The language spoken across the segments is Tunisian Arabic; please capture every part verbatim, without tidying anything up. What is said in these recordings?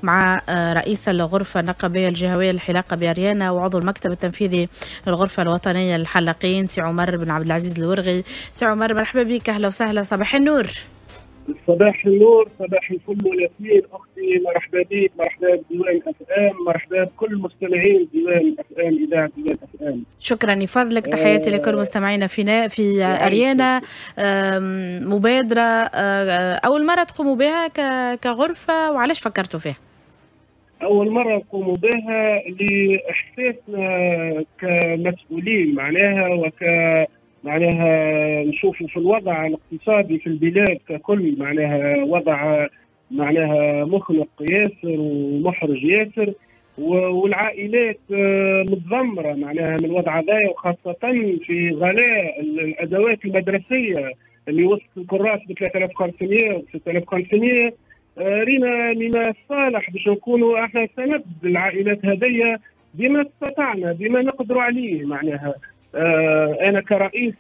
مع رئيس الغرفة النقابية الجهوية للحلاقة بأريانا وعضو المكتب التنفيذي للغرفة الوطنية للحلاقين سي عمر بن عبد العزيز الورغي. سي عمر مرحبا بك، أهلا وسهلا، صباح النور. صباح النور، صباح الفل والياسمين اختي، مرحبا بك، مرحبا بديوان اف ام، مرحبا بكل مستمعين ديوان اف ام، اذاعة ديوان اف ام. شكرا لفضلك، تحياتي آه لكل مستمعينا في في اريانا. مبادرة اول مرة تقوموا بها كغرفه، وعلاش فكرتوا فيها؟ اول مرة نقوموا بها لاحساسنا كمسؤولين معناها وك معناها نشوفوا في الوضع الاقتصادي في البلاد ككل، معناها وضع معناها مخنق ياسر ومحرج ياسر، والعائلات متذمره معناها من الوضع هذايا، وخاصة في غلاء الادوات المدرسية اللي وصلت الكراس ب ثلاثة آلاف وخمسمية و ستة آلاف وخمسمية. رينا من الصالح باش نكونوا احنا سند العائلات هذيا بما استطعنا بما نقدروا عليه. معناها أنا كرئيس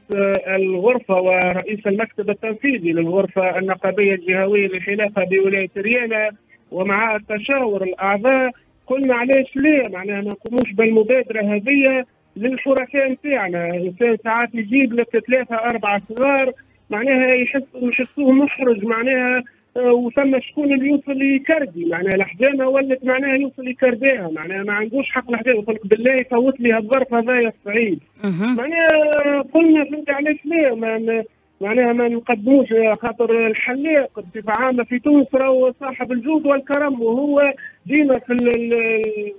الغرفة ورئيس المكتب التنفيذي للغرفة النقابية الجهوية للحلاقة بولاية ريانا، ومع تشاور الأعضاء قلنا علاش ليه معناها ما نقوموش بالمبادرة هذه للحرفاء نتاعنا. إنسان ساعات يجيب لك ثلاثة أربعة صغار معناها يحس يحسوه محرج معناها، وثم شكون اللي يوصل يكردي معناها الحجامة ولت معناها يوصل يكرديها، معناها ما عندوش حق الحجامة، يقول لك بالله فوت لي هالظرف هذايا الصعيب. معناها قلنا فهمت علاش لا ما معناها ما نقدموش، خاطر الحلاق بصفة عامة في تونس راهو صاحب الجود والكرم، وهو ديما في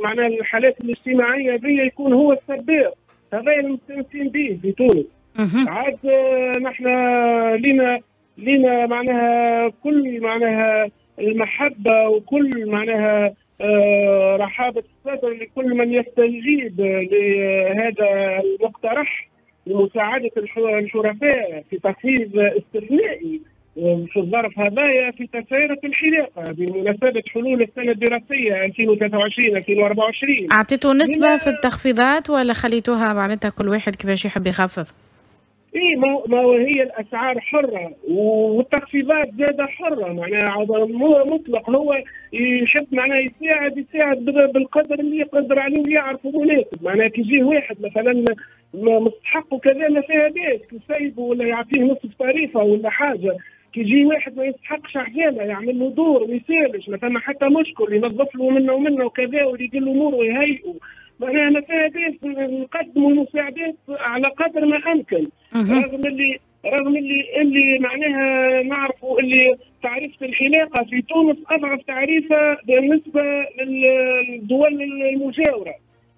معناها الحالات الاجتماعية دي يكون هو السباق، هذا اللي مستانسين به في تونس. عاد نحن لنا لنا معناها كل معناها المحبة وكل معناها آه رحابة الصدر لكل من يستجيب لهذا المقترح لمساعدة الشرفاء في تخفيض استثنائي في الظرف هذايا في تسعيرة الحلاقة بمناسبة حلول السنة الدراسية ألفين وثلاثة وعشرين ألفين وأربعة وعشرين. أعطيتوا نسبة في التخفيضات ولا خليتوها معناتها كل واحد كيفاش يحب يخفض؟ اي ما هي الاسعار حره والتخفيضات زاده حره، معناها مطلق، هو يحب معناها يساعد يساعد بالقدر اللي يقدر عليه ويعرفه مناسب. معناها كي يجيه واحد مثلا مستحق وكذا ما فيها باس يسيبه ولا يعطيه نصف طريفه ولا حاجة، كي يجي واحد ما يستحقش حجامة يعمل له دور ما يسالش، ما ثم حتى مشكل، ينظف له منه ومنه وكذا ويقول له اموره ويهيئه، معناها ما فيها باس نقدموا المساعدات على قدر ما امكن. رغم اللي رغم اللي اللي معناها نعرفوا اللي تعريفة الحلاقة في تونس اضعف تعريفه بالنسبة للدول المجاورة،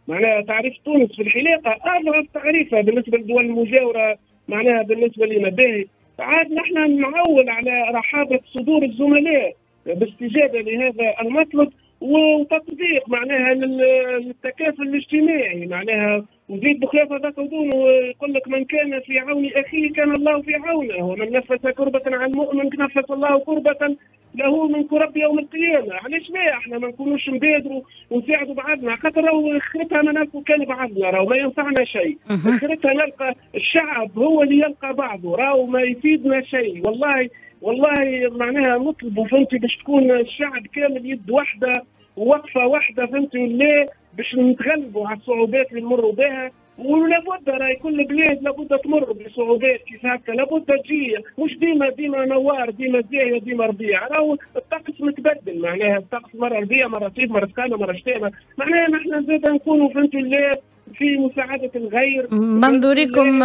معناها تعريف تونس في الحلاقة اضعف تعريفه بالنسبة للدول المجاورة، معناها بالنسبة لنا باهي. عاد نحن نعول على رحابه صدور الزملاء باستجابه لهذا المطلب وتطبيق معناها للتكافل الاجتماعي. معناها وزيد بخلاف هذاك ودون يقول لك من كان في عون اخيه كان الله في عونه، ومن نفس كربة عن المؤمن نفس الله كربة له من كرب يوم القيامة. علاش لا احنا ما نكونوش نبادروا ونساعدوا بعضنا، خاطر راهو اخرتها ما نلقوا كان بعضنا، راهو ما ينفعنا شيء، اخرتها نلقى الشعب هو اللي يلقى بعضه، راهو ما يفيدنا شيء. والله والله معناها نطلبوا فهمتي باش تكون الشعب كامل يد واحدة ووقفه واحدة فهمتي ولا باش نتغلبوا على الصعوبات اللي نمروا بها. ولابد راهي كل بلاد لابد تمر بصعوبات كيف هكا، لابد تجي مش ديما ديما نوار ديما زاهيه ديما ربيع، راهو الطقس متبدل، معناها الطقس مرة ربيع مرة صيف مرة سخانه مرة شتاء، معناها نحن زاد نكونوا فهمتي ولا في مساعدة الغير. منظوركم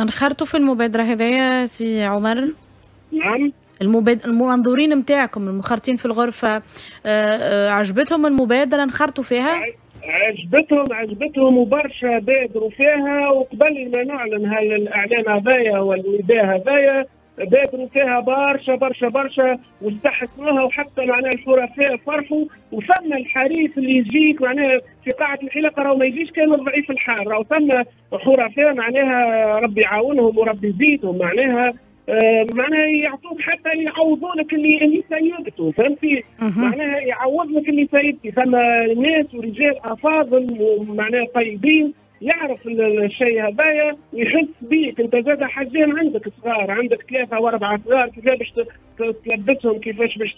انخرطوا في المبادرة هذايا سي عمر؟ نعم. المباد... المنظورين نتاعكم المخرطين في الغرفة عجبتهم المبادرة انخرطوا فيها؟ عجبتهم عجبتهم وبرشا بادروا فيها، وقبل ما نعلن هالاعلان هذايا والنداء هذايا بادروا فيها برشا برشا برشا واستحسنوها، وحتى معناها الحرفاء فرحوا. وثم الحريف اللي يجيك معناها في قاعة الحلاقة راهو ما يجيش كان الضعيف الحال، راهو ثم حرفاء معناها ربي يعاونهم وربي يزيدهم، معناها آه معناها يعطوك حتى يعوضوا لك اللي اللي سيبته، فهمتي؟ معناها يعوض لك اللي سيبتي. ثم ناس ورجال افاضل ومعناها طيبين يعرف الشيء هذايا ويحس بيك. انت زاد حجام عندك صغار، عندك ثلاثة واربعة صغار، كيفاش باش تلبسهم، كيفاش باش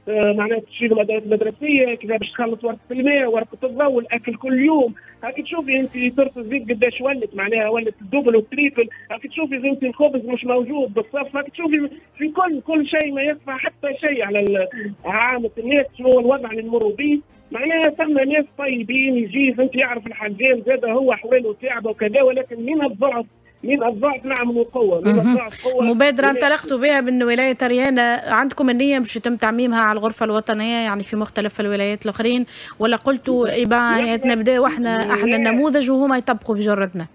معناها تشيلهم ادوات مدرسيه، كيفاش باش تخلص ورقة الماء، ورقة الضوء، الاكل كل يوم. هاك تشوفي انت صرف الزيت قداش ولت، معناها ولت ال double وال triple. هاك تشوفي انت الخبز مش موجود بالصف، هاك تشوفي في كل كل شيء ما يخفى حتى شيء على عامة الناس شنو هو الوضع اللي نمروا به. معناها ثم ناس طيبين يجي فهمت يعرف الحجام زاد هو احواله تعبه وكذا، ولكن من الضعف من الضعف نعملوا قوة، من الضعف قوة. مبادرة انطلقتوا بها من ولاية أريانة، عندكم النية باش يتم تعميمها على الغرفة الوطنية يعني في مختلف الولايات الاخرين، ولا قلتوا إبا نبداو احنا احنا النموذج وهما يطبقوا في جرتنا؟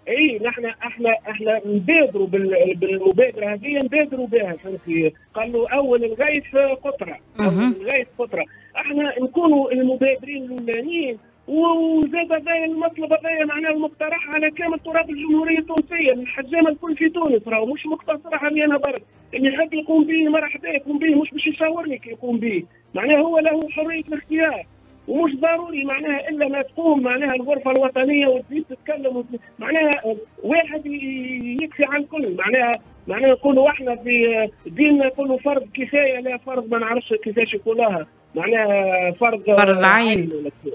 اي نحن احنا احنا نبادروا بالمبادرة هذه، نبادروا بها فهمتي. قالوا اول الغيث قطرة، اول الغيث قطرة، احنا نكونوا المبادرين الاولانيين. وزاد هذا المطلب هذايا معناه المقترح على كامل تراب الجمهورية التونسية، الحجامة الكل في تونس، راهو مش مقتصر علي انا برك، اللي يحب يقوم به مرحبا يقوم به، مش باش يشاورني كي يقوم به، معناه هو له حرية الاختيار. ومش ضروري معناها الا ما تقوم معناها الغرفة الوطنية وتزيد تتكلم، معناها واحد يكفي عن الكل. معناها معناها نقولوا احنا في ديننا نقولوا فرض كفاية، لا فرض ما نعرفش كيفاش يقولوها، معناها فرض فرض عين،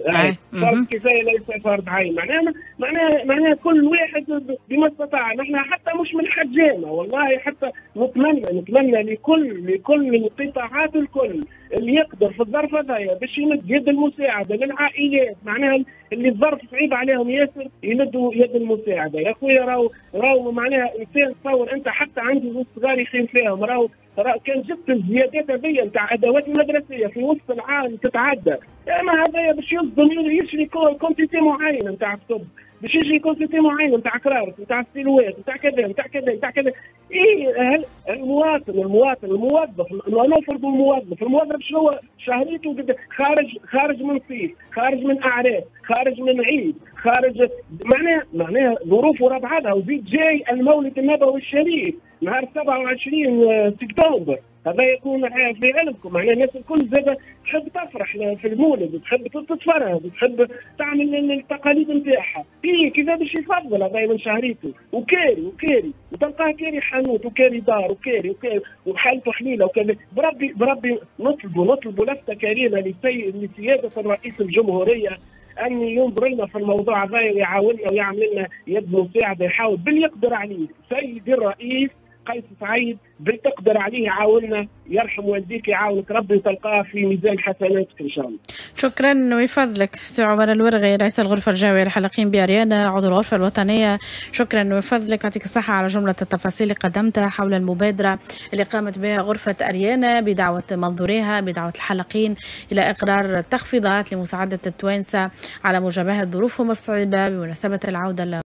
عين. فرض كفاية ليس فرض عين. معناها معناها معناها كل واحد بما استطاع. نحن حتى مش من حجامة والله، حتى نتمنى نتمنى لكل لكل القطاعات الكل اللي يقدر في الظرف هذايا باش يمد يد المساعدة للعائلات، معناها اللي الظرف صعيب عليهم ياسر يمدوا يد المساعدة. يا خويا راهو راهو معناها انسان تصور انت حتى عندي زوج صغار يخيم فيهم، راهو كان جبت الزيادات هذيا نتاع ادوات المدرسية في وسط العام تتعدى، اما هذايا باش يصدم يشري quantité معينة نتاع كتب، باش يشري quantité معينة نتاع كرارس، نتاع ستيلوات، نتاع كذا نتاع كذا نتاع كذا. اي المواطن المواطن الموظف، نفرض الموظف، الموظف شنو شهريته خارج خارج من صيف، خارج من اعراس، خارج من عيد، خارج معناها معناها ظروف ورا بعضها. وزيد جاي المولد النبوي الشريف نهار سبعة وعشرين سبتمبر، هذا يكون في علمكم. معناها الناس الكل زاد تحب تفرح في المولد، تحب تتفرهد، تحب تعمل التقاليد نتاعها. اي كيف باش يفضل هذا من شهريته، وكاري وكاري وتلقاه كاري حانوت وكاري دار وكاري وكاري وحالته حليله وكذا. بربي بربي نطلبوا نطلبوا لفته كريمة لسياده الرئيس الجمهورية ان ينظر لنا في الموضوع هذا ويعاوننا ويعمل لنا يد مساعدة، يحاول باللي يقدر عليه. سيدي الرئيس قيس سعيد بتقدر عليه يعاوننا، يرحم والديك يعاونك ربي وتلقاه في ميزان حسناتك ان شاء الله. شكرا ويفضلك سي عمر الورغي رئيس الغرفة الجهوية للحلاقين بأريانا عضو الغرفة الوطنية، شكرا ويفضلك، يعطيك الصحة على جملة التفاصيل اللي قدمتها حول المبادرة اللي قامت بها غرفة أريانا بدعوة منظوريها بدعوة الحلاقين الى اقرار تخفيضات لمساعده التوانسة على مجابهة ظروفهم الصعيبه بمناسبة العودة